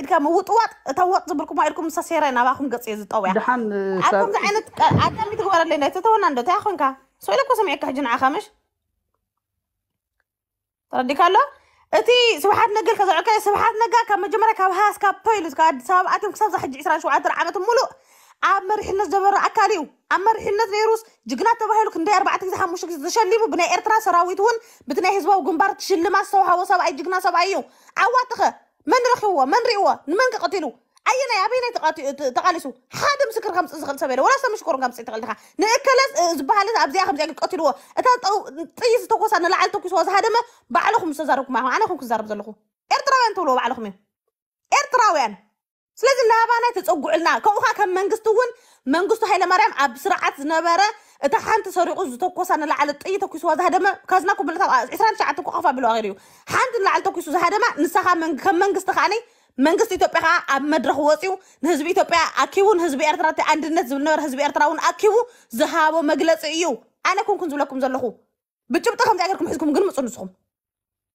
ኢድካ ምውጥዋጥ፣ እታ ወጥ ዝብልኩማ ኢድኩም ምሳ ሴራይ ናባኹም ገጽ እየ ዝጠውያ። ደሓን፣ እ፣ ኣብ ከምዚ ዓይነት ቀ-፣ ኣዳም ይትግበረለይ ናይ ተተወና እንዶ እንታይ ኮንካ? ሰው ኢለ እኮ ሰሚዐካ ሕጂ ንዓኻ ምሽ? ተረዲካ ኣሎ? እቲ ስብሓት ነጋ ከዘዕከ ስብሓት ነጋ ካብ መጀመርያ ካብ ሃስ ካብ ፖይሉ ካብ ኣዲስ ኣበባ ኣትዮም ክሳብ ሕጂ ዕስራን ሸውዓተን ዓመት ሙሉእ ኣብ መሪሕነት ዝነበረ ኣካል እዩ። ኣብ መሪሕነት ነይሩስ ጅግና ተባሂሉ ክንደይ ኣርባዕተ ግዜ ሓሙሽተ ግዜ ተሸሊሙ ብናይ ኤርትራ ሰራዊት እውን ብቲ ናይ ህዝባዊ ግንባር ሽልማት ዝተውሃቦ ሰብኣይ ጅግና ሰብኣይ እዩ። ዓዋትኸ መን ረኺብዎ? መን ሪእዎ? ንመን ከ ቀቲሉ? ኣየናይ ኣበየናይ ተቃቲ-፣ ተ-፣ ተቃሊሱ? ሓደ ምስክር ከምጽእ ዝኽእል ሰብ የለ። ወላ ሰብ ምሽኮር ከምጽእ ትኽእል ዲኻ? ንእከለ እ፣ ዝበሃል ኣብዚኣ ከምዚኣ ቀቲልዎ። እታ ጠው-፣ ጥይት ዝተኮሳ ንላዕሊ ተኩስዋ ዝሃደመ ባዕልኹም ዝተዛረብኩም ኣኹም። ኣነ ኹም ክዛረብ ዘለኹ። ኤርትራውያን ትብልዎ ባዕልኹም እዮም። ኤርትራውያን። ስለዚ ናባና ተጸጉዕልና። ከምኡ ኸኣ ከም መንግስቲ እውን መንግስቱ ሃይለማርያም ኣብ ስርዓት ዝነበረ እታ ሓንቲ ሰሪቑ ዝተኮሳ ንላዕሊ ጥይት ተኩስዋ ዝሃደመ ካዝና ኩምብለታ ዕስራን ትሽዓተን ኮኾፋ ብሎ ኣኺሩ እዩ። ሓንቲ ንላዕሊ ተኩሱ ዝሃደማ ንሳኻ መን-፣ ከም መንግስቲ ኸኣኒ መንግስቲ ኢትዮጵያ ኸኣ ኣብ መድረኽ ወጺኡ ንህዝቢ ኢትዮጵያ ኣኪቡ ንህዝቢ ኤርትራ እቲ ኣንድነት ዝብል ነበረ ህዝቢ ኤርትራ እውን ኣኪቡ ዝሃቦ መግለጺ እዩ። ኣነ ኮንኩን ዝብለኩም ዘለኹ ብጭብጢ ከምዚኣ ጌርኩም ሒዝኩም ግን ምጹ ንስኹም።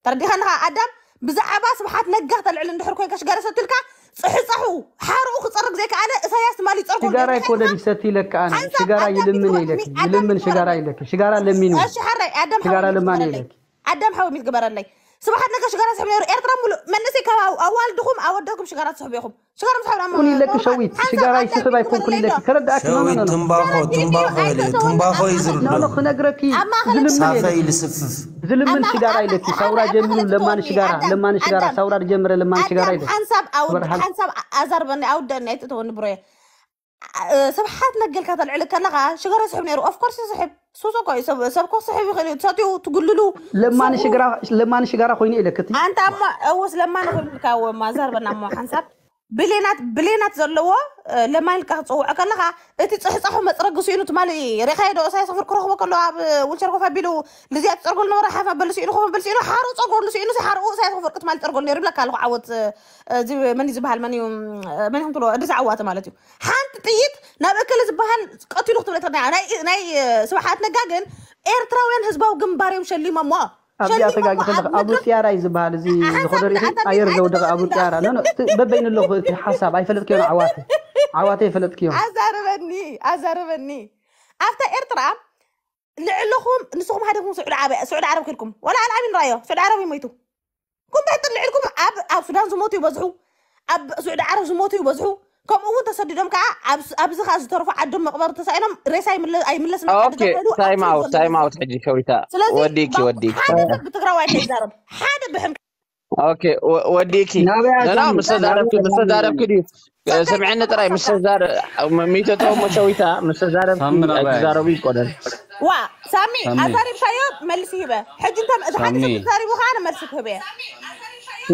ተረዲኻኒ ኸዓ ኣዳም ብዛዕባ ስብሓት ነጋ ተልዕል እንድሕር ኮንካ ሽጋራ ሰትልካ ጽሕጻሑ ሓርኡ ክጸርግ ዘይከኣለ እሳያስ ትማሊ ይጸርጎ ሽጋራ ነይሩ። ኣይኮነን ይሰቲ ኢለካ ኣነ ሓንሳብ ሽጋራ ኣዳም ይልምን ይትግበር-፣ ኢለኪ ኣዳም ይልምን ይትግበረለይ። ሽጋራ ኢለኪ ሽጋራ ለሚኑ ኣዳም ሽጋራ ሓወይ ሓወይ ሽጋራ ሚት ለማን ግበረለይ። ኢለኪ ኣዳም ሓወይ ሚት ግበረለይ። ስብሓት ነጋ ሽጋራ ስሕብ ነይሩ ኤርትራ ሙሉእ መንእሰይ ካብ ኣው-፣ ኣዋልድኹም ኣወዳትኩም ሽጋራ ትስሕቡ ኢኹም። ሽጋራ ትስሕቡ ኢኹም። ኩን ኢለኪ ሸዊት ሓንሳብ ሽጋራ ኣዳም ይስሕብ ኣይኮንኩን ኢለኪ ግበረለይ። ተረዳእኪ ኖ ኖ ኖ ኖ ትንባኾ ትንባኾ የለ ትንባኾ እዩ ዝርድእ። ኣብ ማእኸል ዝልምን ዝልምን ሳፈ ኣይፈተዎ። ይልስፍፍ። ዝልምን ኣብ ሽጋራ ማእኸል ኢለኪ ኣዳም ሳውራ ኣዳም ጀሚሩ ማእኸል ለማን ትተወኒ ሽጋራ ኣዳም ለማን ሽጋራ ኣዳም ሳውራ ጀመረ ለማን ሽጋራ ኣዳም ኢለኪ ሓንሳብ ኣውድ ክበርሃል ሓንሳብ ኣዛርበኒ ኣውደኒ ኣይትእተወኒ ብሮየ። እ፣ ስብሓት ነጋ ኢልካ ተልዕል ከለኻ ሽጋራ ይስሕብ ነይሩ። ኦፍ ኮርስ ይስሕብ። ሱስ እኮ እዩ። ሰብ ሰብ እኮ ክስሕብ ይኽእል እዩ። ትሰትዩ ትጉልሉ። ለማን ሽግራ ለማን ሽጋራ ኮይኑ ኢለክቲ ኣንተ ኣሞ እውስ ለማን ኮይኑልካ እወ እማ ዘርበና እሞ ሓንሳብ ብሌናት ብሌናት ዘለዎ እ፣ ለማን ኢልካ ክትፅውዖ ከለኻ እቲ ፅሕፃሑ መፅረጊ ስኢኑ ትማሊ ሬኻዮ ዶ እሳያስ ኣፈወርቂ ክረኽቦ ከሎ ኣብ ዊልቸር ኮፍ ኣቢሉ ልዝያ ትፀርጎ ዝነበረ ሓፍ ኣበሉ ስኢኑ ኮፍ ኣበሉ ስኢኑ ሓሩ ፀርጎሉ ስኢኑ ሓርኡ እሳያስ ኣፈወርቂ ትማሊ ፀርጎሉ ነይሩ ይብለካ ኣለኹ ዓወት እ፣ እዚ መን እዩ ዝበሃል መን እዩ እ፣ መን ኢኹም ትብሎ እድሪስ ዓዋተ ማለት እዩ ሓንቲ ጥይት ናብ እከለ ዝበሃል ቀቲሉ ክትብል እትኽእል ናይ ናይ ስብሓት ነጋ ግን ኤርትራውያን ህዝባዊ ግንባር እዮም ሸሊሞሞ ኣብዚኣ ሸሊሞሞ ተጋጊ ከለኽ ኣብ ኣቡ መድረኽ ጽያራ እዩ ዝበሃል እዚ ዝኾነ ርኢኺ ኣየር ዘውደቐ ኣቡ ጽያራ ኖ ኖ እቲ በበይኑ ኣለኹ እቲ ሓሳብ ኣይፈለጥክዮ ዓዋተ ዓዋተ ኣይፈለጥክዮ ኣዛርበኒ ኣዛርበኒ ኣብታ ኤርትራ ልዕልኹም ንስኹም ሃደኩም ስዑዲ ዓረብ ስዑዲ ዓረብ ከድኩም ወላ ኣልዓሚን ራዮ ስዑዲ ዓረብ ይሞይቱ ኩም ትሕት ልዕልኩም ኣብ ኣብ ሱዳን ዝሞቱ ይበዝሑ ኣብ ስዑዲ ዓረብ ዝሞቱ ይበዝሑ ከምኡ እውን ተሰዲዶም ከዓ ኣብዚ ከዓ ዝተረፉ ዓዶም መቕበር ተሳኢኖም ሬሳ ኣይምለስና ኦኬ ታይም ኣውት ታይም ኣውት ሕጂ ሸዊታ ወዲኪ ወዲኪ ሓደ ሰብ ብትግራዋይ ከይዛረብ ሓደ ብሕም ኦኬ ወዲኪ ናበያ ነና ሳሚ ምስ ተዛረብኪ ምስ ተዛረብኪ ድዩ ስምዕኒ ጥራይ ምስ ተዛረ ሚተቶ ሞ ሸዊታ ምስ ተዛረብኪ ሳሚ ናበያ ኣይትዛረቡ ይቆደል ዋ ሳሚ ሳሚ። ኣዛሪብካዮ መልሲ ሂበ ሕጂ እንተ እቲ ሓደ ሳሚ። ሰብ ተዛሪቡ ከዓ ኣነ መልሲ ክህበ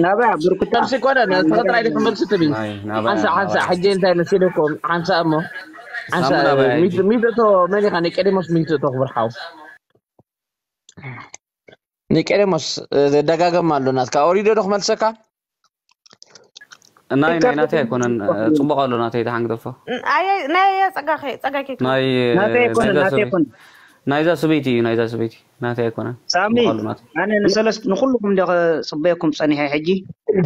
ናበያ ብርኩታ መልሲ ይቆደል ተፈጥራይ ዲኹ መልሲ ትቢ ናይ ናበያ ሓንሳ ሓንሳ ናበያ ሕጂ እንታይ መሲልኩም ሓንሳ እሞ ሓንሳ ሳሚ ናበያ ሕጂ። ሚተቶ መን ኢኻ ኒቄዲሞስ ሚተቶ ክብርሓው ኒቄዲሞስ ደጋገም ኣሎ ናትካ ኦሪዶ ዶ ክመልሰካ ናይ ናይ ናተይ ኣይኮነን ጽቡቕ ኣሎ ናተይ ተሓንግደፎ ኣየ ናይ ጸጋኸ ጸጋከ ናይ ናተይ ኣይኮነ ናይዛ ናተይ ሰበይቲ ኣይኮነ ናይዛ ሰበይቲ እዩ ናይዛ ሰበይቲ ናተይ ኣይኮነን ሳሚ ጽቡቕ ኣሎ ናተይ ኣነ ንሰለስት ንኩልኩም እንደ ጽበየኩም ጸኒሐ ሕጂ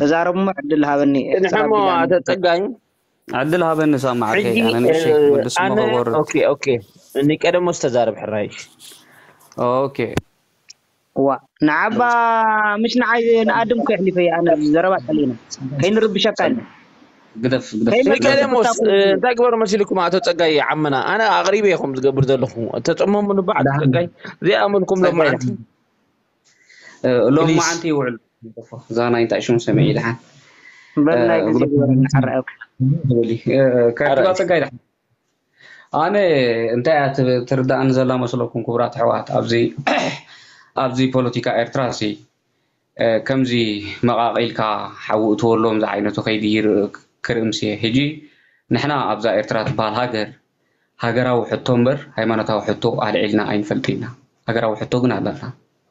ተዛረቡሞ ዕድል ሃበኒ ንሕሞ ኣተ ጸጋይ ዕድል ሃበኒ ሳማ ዓርከይ ሕጂ ኣነ ንእሽተይ ወዲ ስሞ ኣነ ከጎርር ኦኬ ኦኬ ኒቄዲሞስ ተዛረብ ሕራይ ኦኬ ዋ ንዓባ ምሽ ንዓይ ንኣድም ከሕሊፈ ኣነ ዘረባ ጠሊና ከይንርብሸካ ኢና ግደፍ ግደፍ ኒቄዲሞስ እንታይ ግበሩ መሲልኩም ኣቶ ጸጋይ ዓመና ኣነ ኣቕሪበ ኢኹም ዝገብር ዘለኹ ተጸመሙ ንባዕ ጸጋይ ዘይኣመልኩም ሎማዓንቲ ሎም ፕሊዝ። መዓንቲ ይውዕል እዛ ናይ እንታይ ሽሙ ሰሚዐ ድሓን በል ናይ ግዜ ግበረና ሓራእኩ ከዕትባ ጸጋይ ድሓን ኣነ እንታይ እያ ት- ትርዳእኒ ዘላ መስለኩም ክቡራት ኣሕዋት ኣብዚ ኣብዚ ፖለቲካ ኤርትራ ሲ እ፣ ከምዚ መቓቒልካ ሓዊ እትወሎም ዝዓይነቱ ከይዲ ይር- ክርእምሲ ሕጂ ንሕና ኣብዛ ኤርትራ ትበሃል ሃገር ሃገራዊ ሕቶ እምበር ሃይማኖታዊ ሕቶ ኣልዒልና ኣይንፈልጥ ኢና ሃገራዊ ሕቶ ግን ኣለና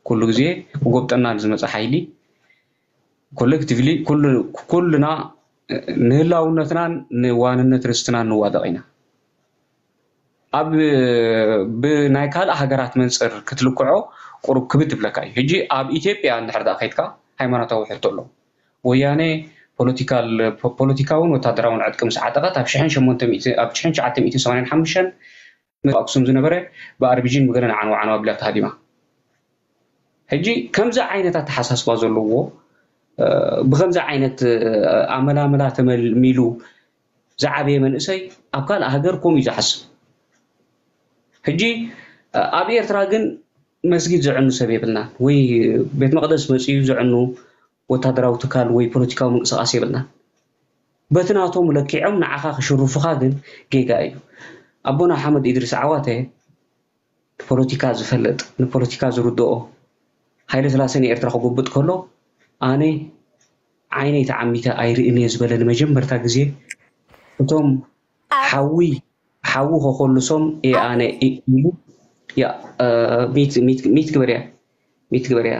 ኩሉ ግዜ ክጎብጠና ንዝመፀ ሓይሊ ኮሌክቲቭሊ ኩልና ንህላውነትናን ንዋንነት ርስትናን ንዋደቕ ኢና ኣብ ብናይ ካልእ ሃገራት መንፅር ክትልክዖ ቁሩብ ክብድ ይብለካ እዩ ሕጂ ኣብ ኢትዮጵያ እንድሕር ዳ ከይድካ ሃይማኖታዊ ሕቶ ኣሎ ወያነ ፖለቲካል ፖለቲካውን ወታደራውን ዕጥቂ ምስ ዓጠቐት ኣብ ሽሕን ሸሞንተ ሚእቲ ኣብ ሽሕን ትሽዓተ ሚእቲ ሰማንያን ሓሙሽተን ኣብ ኣክሱም ዝነበረ ብኣርቢጂን ብገለን ዓንዋ ዓንዋ ኣቢላ ተሃዲማ። ሕጂ ከምዚ ዓይነት ኣተሓሳስባ ዘለዎ ብከምዚ ዓይነት ኣመላምላ ተመልሚሉ ዝዓበየ መንእሰይ ኣብ ካልእ ሃገር ከምኡ እዩ ዝሓስብ። ሕጂ ኣብ ኤርትራ ግን መስጊድ ዘዕኑ ሰብ የብልናን፣ ወይ ቤት መቕደስ መፅዩ ዘዕኑ ወታደራዊ ትካል ወይ ፖለቲካዊ ምንቅስቃስ የብልናን። በቲ ናቶም ለኪዖም ንዓኻ ክሽርፉኻ ግን ጌጋ እዩ። ኣቦና ሓመድ ኢድሪስ ዓዋተ ንፖለቲካ ዝፈልጥ፣ ንፖለቲካ ዝርድኦ፣ ሃይለ ስላሴ ንኤርትራ ክጉብጥ ከሎ ኣነ ዓይነይ ተዓሚተ ኣይርእን እየ ዝበለ ንመጀመርታ ግዜ እቶም ሓዊ ሓዊ ከኮልሶም እየ ኣነ ኢሉ። ያ ሚት ሚት ሚት ግበር እያ ሚት ግበር እያ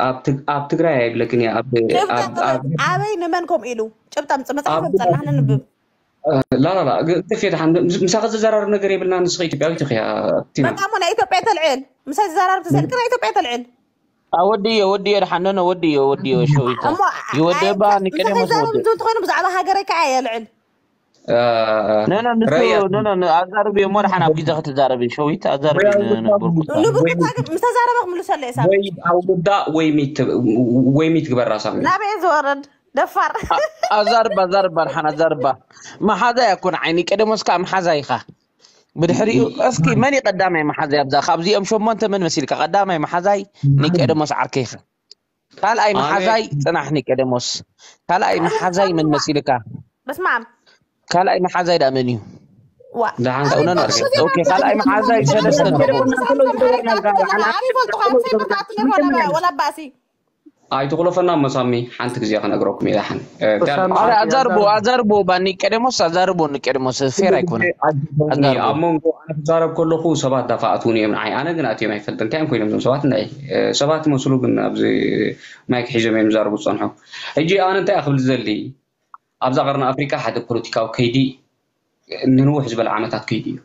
ኣብ ትግ- ኣብ ትግራይ ኣይብለክን እያ ኣብ ኣብ ኣብ ኣበይ ንመን ከምኡ ኢሉ ጭብጣ ምፅ መፅሓፍ ምፀና ንንብብ ላላላ ግፍየት ሓን ምሳኸ ዘዘራርብ ነገር የብልና። ንስኸ ኢትዮጵያዊት ኢኽያ ቲና በቃ እሞ ናይ ኢትዮጵያ ተልዕል ምሳይ ዝዘራርብ ተሰልክ ናይ ኢትዮጵያ ተልዕል ወድዮ ወድዮ ድሓን ነነ ወድዮ ወድዮ ሸዊታ እሞ ይወደባ ንቀደም ምሳይ ዛረብ እንትን ትኾይኑ ብዛዕባ ሃገረይ ከዓ የልዕል ነነ ንሱ ነነ ኣዛርብ እሞ ድሓን ኣብ ግዜ ክትዛረብ ሸዊት ኣዛርብ ንብርኩ ንብርኩታ ግን ምስተዛረበ ክምልሰሉ እየ ሳሚ ወይ ኣውርዳ ወይ ሚት ወይ ሚት ግበራ ሳሚ ናበየ ዝወርድ ደፋር ኣዛርባ ኣዛርባ ድሓን ኣዛርባ መሓዛይ ኣኮን ዓይኒ ቀደሞስ ከዓ መሓዛይ ኢኻ ብድሕሪኡ እስኪ መን እዩ ቀዳማይ መሓዛይ ኣብዛ ካብዚኦም ሸሞንተ መን መሲልካ ቀዳማይ መሓዛይ ኒቀደሞስ ዓርከይ ኢኻ ካልኣይ መሓዛይ ፅናሕ ኒቀደሞስ ካልኣይ መሓዛይ መን መሲልካ በስማም ካልኣይ መሓዛይ ዳ መን እዩ ዋ ሰውነን ኦኬ ካልኣይ መሓዛይ ሰለስተ ኣለዎ ኣነ ይፈልጥኻ ሰይብርካ ትነግሮ ወላ ባእሲ ኣይትቑለፈና መሳሚ ሓንቲ ግዜ ክነግረኩም እየ ዳሓን ኣዛርቦ ኣዛርቦ ባኒ ቀደሞስ ኣዛርቦ ንቀደሞስ ፌር ኣይኮነ ኣብ መንጎ ኣነ ክዛረብ ከለኹ ሰባት ዳፋኣትውን እዮም ንዓይ ኣነ ግን ኣትዮም ኣይፈልጥ እንታይ እዮም ኮይኖም ዞም ሰባት ናይ ሰባት መስሉ ግን ኣብዚ ማይክ ሒዞም እዮም ዝዛረቡ ዝፀንሑ ሕጂ ኣነ እንታይ ክብል ዝደሊ ኣብዛ ቀርኒ ኣፍሪቃ ሓደ ፖለቲካዊ ከይዲ ንንውሕ ዝበለ ዓመታት ከይዱ እዩ።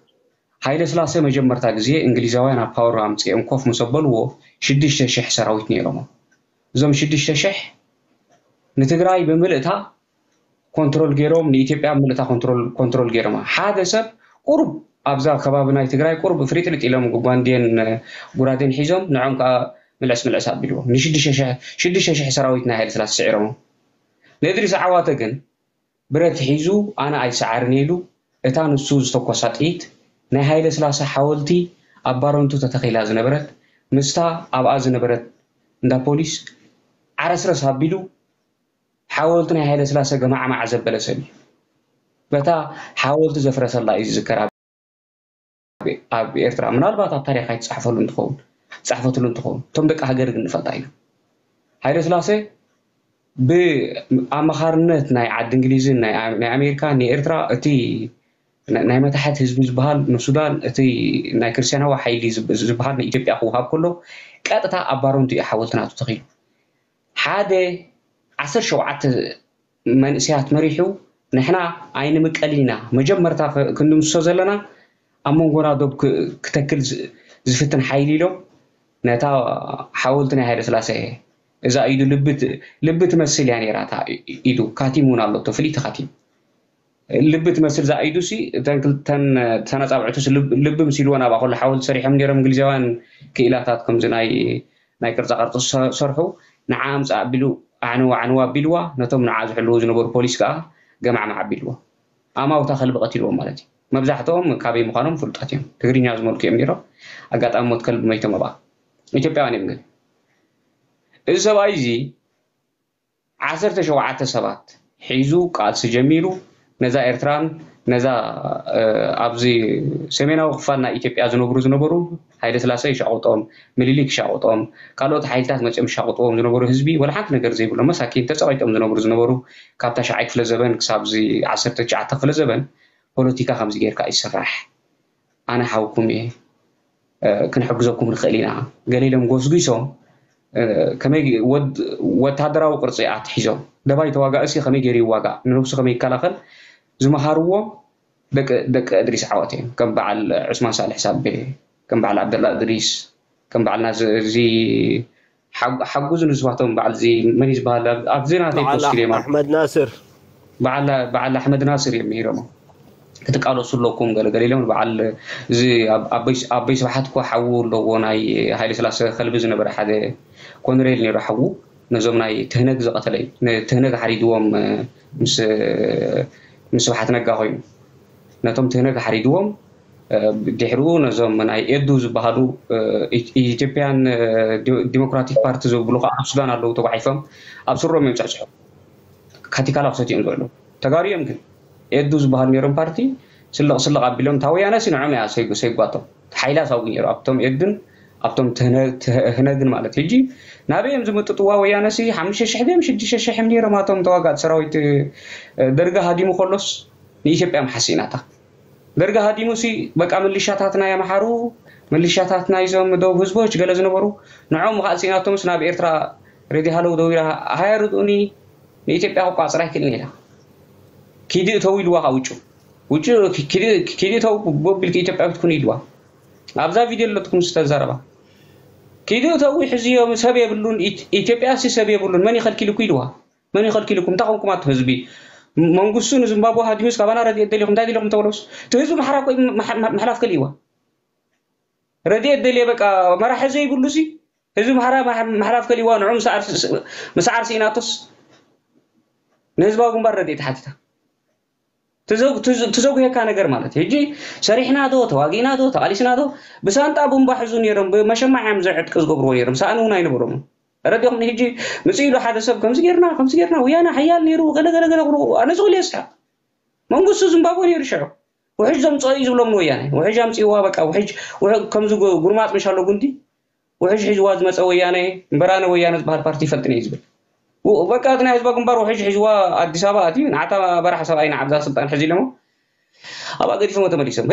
ሃይለ ስላሴ መጀመርታ ግዜ እንግሊዛውያን ኣብ ፓወር ኣምፅኦም ኮፍ ምስ ኣበልዎ ሽዱሽተ ሽሕ ሰራዊት ነይሮሞ። እዞም ሽዱሽተ ሽሕ ንትግራይ ብምልእታ ኮንትሮል ገይሮም ንኢትዮጵያ ብምልእታ ኮንትሮል ገይሮማ። ሓደ ሰብ ቁሩብ ኣብዛ ከባቢ ናይ ትግራይ ቁሩብ ፍሪጥሪጥ ኢሎም ጓንዴን ጉራዴን ሒዞም ንዖም ከዓ ምልዕስ ምልዕስ ኣቢልዎም። ንሽዱሽተ ሽሕ ሰራዊት ናይ ሃይለ ስላሴ ስዒሮሞ። ንእድሪስ ዓዋተ ግን ብረት ሒዙ ኣነ ኣይሰዓርን ኢሉ እታ ንሱ ዝተኮሳ ጥይት ናይ ሃይለ ስላሰ ሓወልቲ ኣብ ባረንቱ ተተኺላ ዝነበረት ምስታ ኣብኣ ዝነበረት እንዳ ፖሊስ ዓረስረስ ኣቢሉ ሓወልቲ ናይ ሃይለ ስላሰ ገማዕማዕ ዘበለ ሰብ እዩ። በታ ሓወልቲ ዘፍረሰላ እዩ ዝዝከር ኣብ ኤርትራ ምናልባት ኣብ ታሪክ ኣይትፅሓፈሉ እንትኸውን ትፃሕፈትሉ እንትኸውን እቶም ደቂ ሃገር ግን ንፈልጣ ኢና። ሃይለ ስላሴ ብኣማኻርነት ናይ ዓዲ እንግሊዝን ናይ ኣሜሪካ ንኤርትራ እቲ ናይ መታሕት ህዝቢ ዝበሃል ንሱዳን እቲ ናይ ክርስትያናዊ ሓይሊ ዝበሃል ንኢትዮጵያ ክውሃብ ከሎ ቀጥታ ኣብ ባሮንቱ እዩ ሓወልቲ ናቱ ተኺሉ ሓደ ዓሰርተ ሸውዓተ መንእሰያት መሪሑ ንሕና ኣይንምቀልን ኢና መጀመርታ ክንድምስሶ ዘለና ኣብ መንጎና ዶብ ክተክል ዝፍትን ሓይሊ ኢሎም ነታ ሓወልቲ ናይ ሃይለ ስላሴ እዛ ኢዱ ልቢ ትመስል እያ ነይራ እታ ኢዱ ካቲም እውን ኣሎ ፍልይቲ ካቲም ልቢ ትመስል እዛ ኢዱ ሲ እተን ክልተን ተነፃብዕቱ ልቢ ምስ ኢልዎ ናብኣ ከሎ ሓወልቲ ሰሪሖም ነይሮም እንግሊዛውያን ክኢላታት ከምዚ ናይ ናይ ቅርፃ ቅርፂ ዝሰርሑ ንዓ ኣምፃእ ኣቢሉ ኣዕንዋ ኣዕንዋ ኣቢልዋ ነቶም ንዓ ዝሕልዉ ዝነበሩ ፖሊስ ከዓ ገማዕማዕ ኣቢልዎ ኣማውታ ከልቢ ቀቲልዎም ማለት እዩ። መብዛሕትኦም ካበይ ምዃኖም ፍሉጣት እዮም። ትግርኛ ዝመልኩ እዮም ነይሮም። ኣጋጣሚ ሞት ከልቢ መይቶም ኣብኣ ኢትዮጵያውያን እዮም ግን እዚ ሰብኣይ እዚ ዓሰርተ ሸውዓተ ሰባት ሒዙ ቃልሲ ጀሚሩ ነዛ ኤርትራን ነዛ ኣብዚ ሰሜናዊ ክፋል ናይ ኢትዮጵያ ዝነብሩ ዝነበሩ ሃይለ ስላሴ ይሻቁጦም፣ ምኒልክ ይሻቁጦም፣ ካልኦት ሓይልታት መፅኦም ይሻቁጥዎም ዝነበሩ ህዝቢ ወላ ሓንቲ ነገር ዘይብሎም መሳኪን ተፀቂጦም ዝነብሩ ዝነበሩ ካብ ታሽዓይ ክፍለ ዘበን ክሳብ እዚ ዓሰርተ ትሽዓተ ክፍለ ዘበን ፖለቲካ ከምዚ ጌርካ እዩ ዝስራሕ። ኣነ ሓውኩም እየ ክንሕግዘኩም ንኽእል ኢና ገለ ኢሎም ጎስጒሶም ከመይ ወታደራዊ ቅርፂ ኣትሒዞም ደባይ ተዋጋእሲ ከመይ ገይሩ ይዋጋእ ንነብሱ ከመይ ይከላኸል ዝመሃርዎም ደቂ እድሪስ ዓወት እዮም ከም በዓል ዑስማን ሳልሕ ሳቤ ከም በዓል ዓብደላ እድሪስ ከም በዓል ናዚ ሓጉ ዝንስባቶም በዓል እዚ መን እዩ ዝበሃል ኣብዚ ናተይ ፖስት ኢሎም ኣሕመድ ናስር በዓል ኣሕመድ ናስር እዮም ምሂሮሞ ክትቃለሱ ኣለኩም ገለገለ ኢሎም በዓል እዚ ኣቦይ ስብሓት እኮ ሓዉ ኣለዎ ናይ ሃይለ ስላሰ ከልቢ ዝነበረ ሓደ ኮንሬል ነይሩ ሓዉ ነዞም ናይ ትህነግ ዝቐተለ እዩ ንትህነግ ሓሪድዎም ምስ ስብሓት ነጋ ኮይኑ ነቶም ትህነግ ሓሪድዎም ድሕሪኡ ነዞም ናይ ኤዱ ዝበሃሉ ኢትዮጵያን ዲሞክራቲክ ፓርቲ ዝብሉ ከዓ ኣብ ሱዳን ኣለዉ ተጓሒፎም ኣብ ስሮም እዮም ፅሕፅሑ ካቲካላ ክሰትዮም ዝውዕሉ ተጋሩ እዮም ግን ኤዱ ዝበሃሉ ነይሮም ፓርቲ ስልቕ ስልቕ ኣቢሎም እታ ወያነ ሲ ንዖም እያ ሰይጓቶም ሓይላ ሳውቂ ነይሩ ኣብቶም ኤዱን ኣብቶም ህነግን ማለት ሕጂ ናበይ እዮም ዝምጥጥዋ ወያነ ሲ ሓሙሽተ ሽሕ ድዮም ሽዱሽተ ሽሕ እዮም ነይሮም ኣቶም ተዋጋእቲ ሰራዊት ደርጋ ሃዲሙ ከሎስ ንኢትዮጵያ መሓሲእናታ ደርጋ ሃዲሙ ሲ በቃ ምልሻታት ናይ ኣምሓሩ ምልሻታት ናይዞም ደቡብ ህዝቦች ገለ ዝነበሩ ንዖም ከዓ ሲእናቶምስ ናብ ኤርትራ ሬዲ ሃለው ደዊራ ሃያ ርድኡኒ ንኢትዮጵያ ክቋፅራ ኣይክእልን ኢላ ኪዲ እተው ኢልዋ ካብ ውጩ ውጩ ኪዲ እተው ቦቢልክ ኢትዮጵያዊት ኩኑ ኢልዋ ኣብዛ ቪድዮ ኣለትኩም ዝተዛረባ ኪዲ እተው ሕዝዮም ሰብ የብሉን ኢትዮጵያ ሲ ሰብ የብሉን መን ይኸልኪልኩ ኢልዋ መን ይኸልኪልኩም እንታይ ኮንኩም ኣቶ ህዝቢ መንግስቱ ንዝምባብወ ሃዲሙስ ካባና ረድኤት ደሊኹም እንታይ ደሊኹም ተበሎስ እቲ ህዝቢ ማሕራ ኮ ምሕላፍ ከልእዋ ረድኤት ደልየ በቃ መራሒ ዘይብሉ ሲ ህዝቢ ማሕራ ምሕላፍ ከልእዋ ንዑ ምስ ዓርሲ ኢናቶስ ንህዝባዊ ግንባር ረድኤት ሓቲታ ትዘጉየካ ነገር ማለት ሕጂ ሰሪሕና ዶ ተዋጊእና ዶ ተቃሊስና ዶ ብሳንጣ ቡምባ ሕዙ ነይሮም ብመሸማዕ እዮም ዘዕጥቂ ዝገብርዎ ነይሮም ሰኣን እውን ኣይነበሮም ረዲኹም ሕጂ ምጽእ ኢሉ ሓደ ሰብ ከምዚ ጌርና ከምዚ ጌርና ወያነ ሓያል ነይሩ ገለገለገለ ኣነ ዝኽእል የስሓ መንግስቱ ዝምባቦ ነይሩ ሽዑ ውሕጅ ዘምፅኦ እዩ ዝብሎም ንወያነ ውሕጅ ኣምፅእዋ በቃ ውሕጅ ከምዚ ጉርማፅ ምሻሎ ጉንቲ ውሕጅ ሒዝዋ ዝመፀ ወያነ እምበራነ ወያነ ዝበሃል ፓርቲ ይፈልጥን እዩ ዝብል በቃ እቲ ናይ ህዝባ ግንባር ውሕጅ ሒዝዋ ኣዲስ ኣበባ ኣትዩ ንዓታ በራሕ ሰብኣይ ንዓብዛ ስልጣን ሕዚ ኢሎሞ ኣብኣ ገዲፎሞ ተመሊሶም